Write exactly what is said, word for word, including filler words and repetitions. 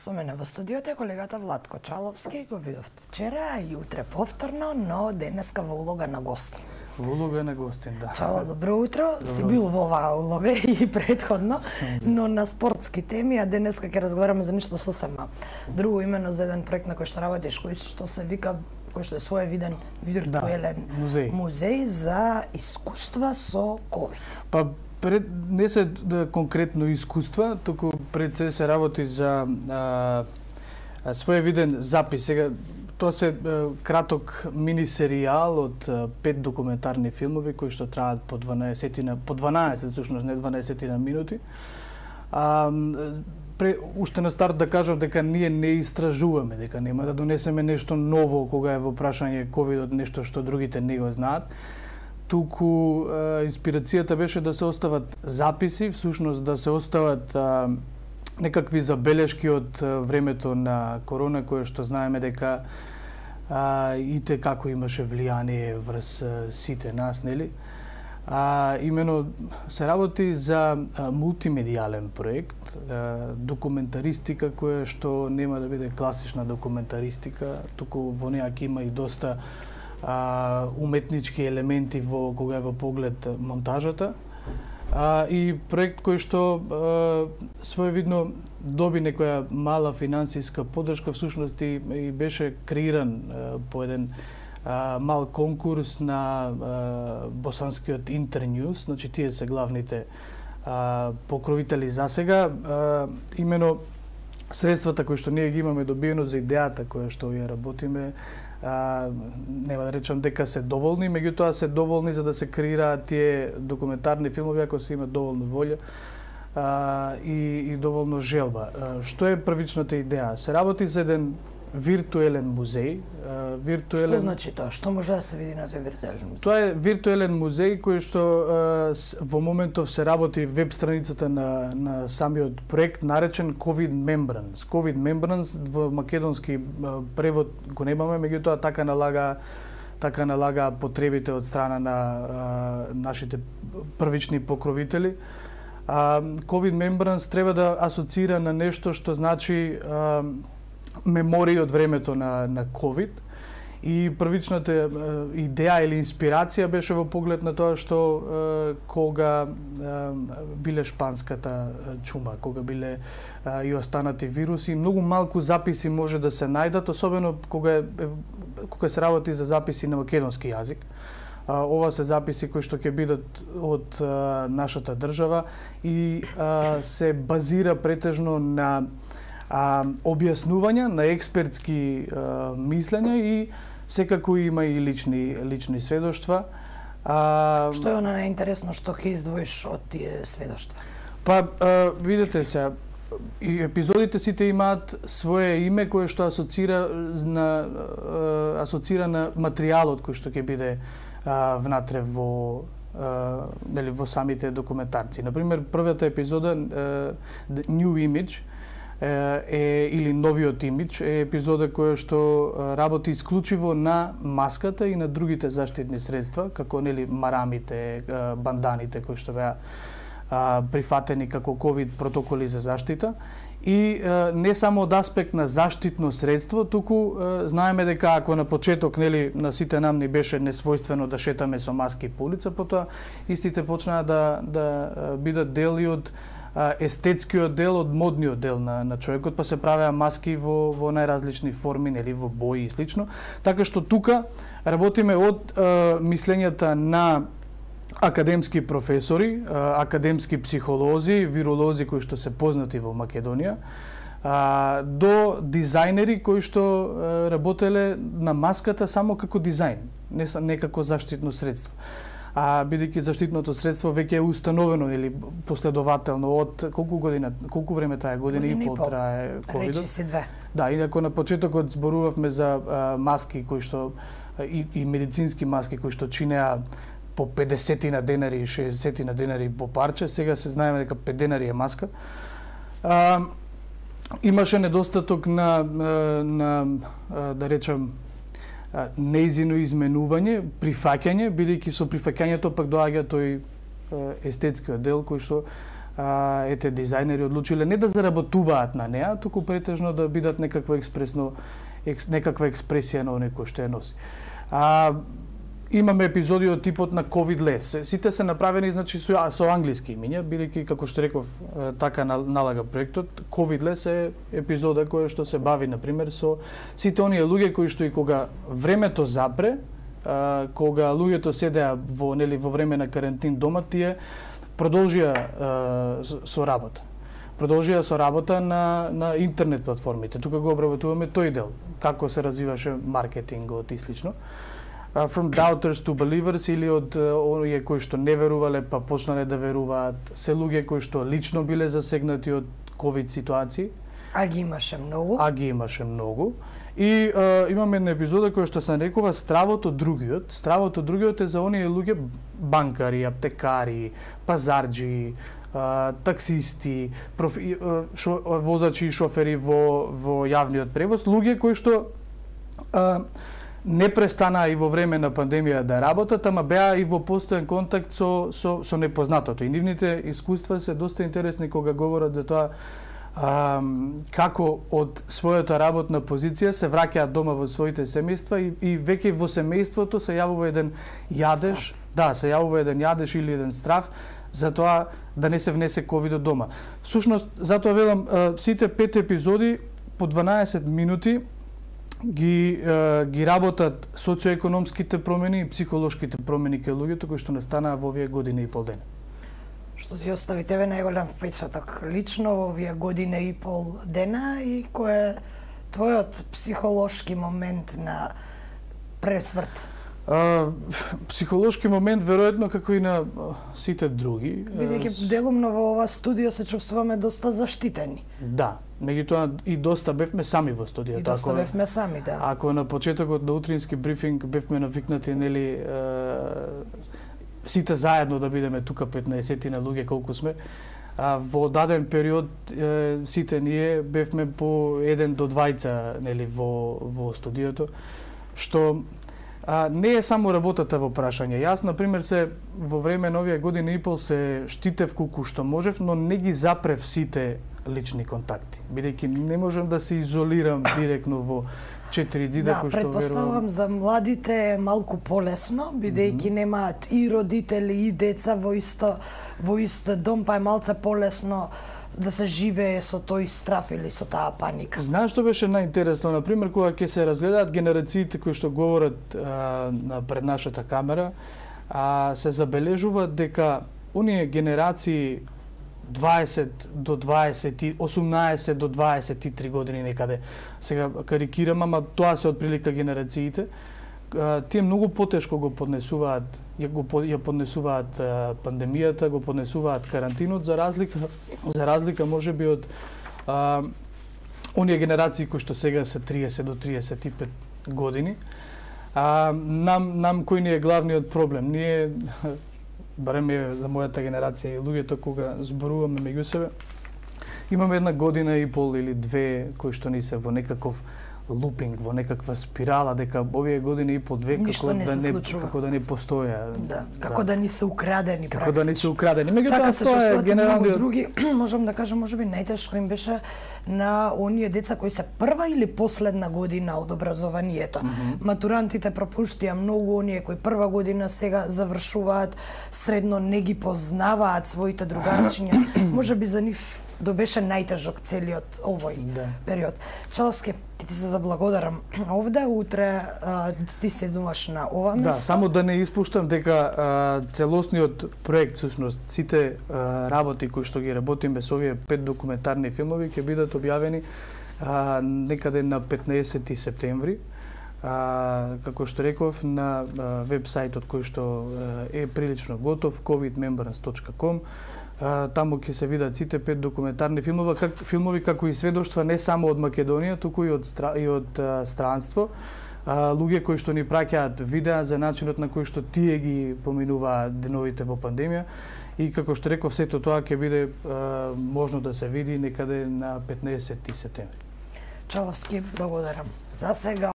Со мене во студиото е колегата Владко Чаловски, го видов вчера и утре повторно, но денеска во улога на гостин. Во улога на гостин, да. Чало, добро утро. Добро. Си бил во оваа улога и предходно, но на спортски теми, а денеска ќе разговараме за нешто сосема друго, имено за еден проект на кој што работиш, кој што се вика, кој што е своевиден виртуелен да, музеј. музеј за искуства со ковид. Па пред не се да, конкретно искуства, туку пред се се работи за а, а, своевиден запис. Сега тоа се а, краток мини серијал од а, пет документарни филмови кои што траат по дванаесет по дванаесет, всушност не дванаесет минути. А, пре, уште на старт да кажам дека ние не истражуваме, дека нема да донесеме нешто ново кога е во прашање ковидот, нешто што другите не го знаат. Туку е, инспирацијата беше да се остават записи, всушност да се остават а, некакви забелешки од а, времето на корона, кое што знаеме дека а, ите како имаше влијание врз а, сите нас, нели? А, имено се работи за а, мултимедијален проект, а, документаристика која што нема да биде класична документаристика, туку во неа ќе има и доста А, уметнички елементи во кога е во поглед монтажата, а, и проект кој што а, своевидно доби некоја мала финансиска поддршка, всушност и, и беше креиран а, по еден а, мал конкурс на а, босанскиот Интерньюз, значи тие се главните а, покровители за сега. А, имено средствата кои што ние ги имаме добиено за идејата која што ја работиме, А, нема да речам дека се доволни, меѓутоа се доволни за да се креираат тие документарни филмови ако се има доволно волја а, и, и доволно желба. А, што е првичната идеја? Се работи за еден виртуелен музеј. А, виртуелен... Што значи тоа? Што може да се види на тој виртуелен музеј? Тоа е виртуелен музеј кој што а, с, во моментов се работи веб страницата на, на самиот проект наречен COVID Membrance. COVID Membrance во македонски а, превод го немаме, меѓутоа така налага така налага потребите од страна на а, нашите првични покровители. А, COVID Membrance треба да асоцира на нешто што значи а, мемории од времето на, на COVID, и првичната е, идеја или инспирација беше во поглед на тоа што е, кога е, биле шпанската чума, кога биле е, и останати вируси, многу малку записи може да се најдат, особено кога, е, кога се работи за записи на македонски јазик. А, ова се записи кои што ќе бидат од а, нашата држава и а, се базира претежно на А, објаснувања на експертски а, мислења и секако има и лични лични сведоштва. А, што е она најинтересно што ќе издвоиш од тие сведоштва? Па а, видете се, и епизодите сите имаат свое име кое што асоцира на а, асоцира на материјалот кој што ќе биде а, внатре во а, нели во самите документарци. Например, првата епизода а, The New Image е, или новиот имидж е епизода која што работи исклучиво на маската и на другите заштитни средства, како нели марамите, банданите кои што беа прифатени како ковид протоколи за заштита. И не само од аспект на заштитно средство, туку знаеме дека ако на почеток нели на сите нам ни беше несвојствено да шетаме со маски по улица, потоа истите почнаа да да бидат дел и од естетскиот дел, од модниот дел на, на човекот, па се правеа маски во, во најразлични форми, нели, во бои и слично. Така што тука работиме од е, мислењата на академски професори, е, академски психолози, виролози кои што се познати во Македонија, е, до дизајнери кои што е, работеле на маската само како дизајн, не, не како заштитно средство. А бидејќи заштитното средство веќе е установено или последователно од колку година, колку време трае, година и пол трае ковидот. Речи се две. Да, инаку на почетокот зборувавме за а, маски кои што и, и медицински маски кои што чинеа по педесет на денари и шеесет на денари по парче, сега се знаеме дека пет денари е маска. А, имаше недостаток на на, на да речем неизино изменување, прифаќање, бидејќи со прифаќањето пак доаѓа тој естетскиот дел кој што а, ете дизајнери одлучиле не да заработуваат на неа, туку претежно да бидат некакво експресно екс, некаква експресија на оној кој што ја носи. А, имаме епизоди од типот на COVID лес. Сите се направени значи со, со англиски имиња, бидејќи како што реков така налага проектот. COVID лес е епизода која што се бави на пример со сите оние луѓе кои што и кога времето запре, а, кога луѓето седеа во нели во време на карантин дома, тие продолжија а, со работа. Продолжија со работа на на интернет платформите. Тука го обработуваме тој дел, како се развиваше маркетингот и слично. Uh, from doubters to believers, или од uh, оние кои што не верувале па почнале да веруваат, се луѓе кои што лично биле засегнати од ковид ситуации. А ги имаше многу. А ги имаше многу. И uh, имаме една епизода која што се нарекува Стравото другиот. Стравото другиот е за оние луѓе банкари, аптекари, пазарџи, uh, таксисти, профи, uh, шо, возачи и шофери во во јавниот превоз, луѓе кои што uh, не престанаа и во време на пандемија да работат, ама беа и во постојан контакт со, со, со непознатото. И нивните искуства се доста интересни кога говорат за тоа а, како од својата работна позиција се враќаат дома во своите семејства и, и веќе во семејството се јавува еден јадеж, страв. Да, се јавува еден јадеж или еден страв за тоа да не се внесе ковидот дома. Всушност, затоа велам, сите пет епизоди по дванаесет минути ги е, ги работат социоекономските промени и психолошките промени кај луѓето кои што настанаа во овие година и пол дена. Што ти остави тебе најголем впечаток лично во овие година и пол дена и кој е твојот психолошки момент на пресврт? А, психолошки момент веројатно како и на сите други. Бидејќи делумно во ова студио се чувствуваме доста заштитени. Да, меѓутоа и доста бевме сами во студиото. И доста ако, бевме сами, да. Ако на почетокот на утрински брифинг бевме навикнати нели е, сите заедно да бидеме тука петнаесет на луѓе колку сме, а во даден период е, сите ние бевме по еден до двајца нели во во студиото, што А, не е само работата во прашање. Јас, например, се во време на овие години и пол се штитев колку што можев, но не ги запрев сите лични контакти. Бидејќи не можам да се изолирам директно во четири ѕида, да, кои што верувам. Да, претпоставам за младите е малку полесно, бидејќи mm -hmm. немаат и родители и деца во исто во ист дом, па е малце полесно да се живее со тој страв или со таа паника. Знаеш што беше најинтересно, на пример, кога ќе се разгледаат генерациите кои што говорат а, на пред нашата камера, а, се забележува дека оние генерации дваесет до дваесет, осумнаесет до дваесет и три години некаде. Сега карикирам, ама тоа се отприлика генерациите. Тие многу потешко го поднесуваат, ја го ја поднесуваат пандемијата, го поднесуваат карантинот за разлика за разлика можеби од а, оние генерации кои што сега се триесет до триесет и пет години. А, нам нам кој ни е главниот проблем? Ние барем е за мојата генерација и луѓето кога зборуваме меѓу себе, имаме една година и пол или две кои што ни се во некаков лупинг, во некаква спирала, дека овие години и по две како не да не случува. како да не постоја. Да, како да, да ни се украдени како да ни се украдени. Меѓутоа така се тоа е генералниот други, можам да кажам, можеби најтешко им беше на оние деца кои се прва или последна година од образованието. Mm -hmm. Матурантите пропуштија многу, оние кои прва година сега завршуваат средно, не ги познаваат своите другарчиња. Можеби за нив до беше најтежок целиот овој да. период. Чаловски, ти ти се заблагодарам овде, утре а, ти седнуваш на ова место. Да, само да не испуштам дека а, целосниот проект, всушност, сите а, работи кои што ги работиме со овие пет документарни филмови ќе бидат објавени а, некаде на петнаесети септември. А, како што реков, на веб-сајтот кој што е прилично готов, covid membrance точка com. Uh, таму ќе се видат сите пет документарни филмови, как, филмови како и сведоштва не само од Македонија, туку и од, стра, и од uh, странство. Uh, луѓе кои што ни праќаат видеа за начинот на кој што тие ги поминуваат деновите во пандемија. И како што реков, сето тоа ќе биде uh, можно да се види некаде на петнаесети септември. Чаловски, благодарам. За сега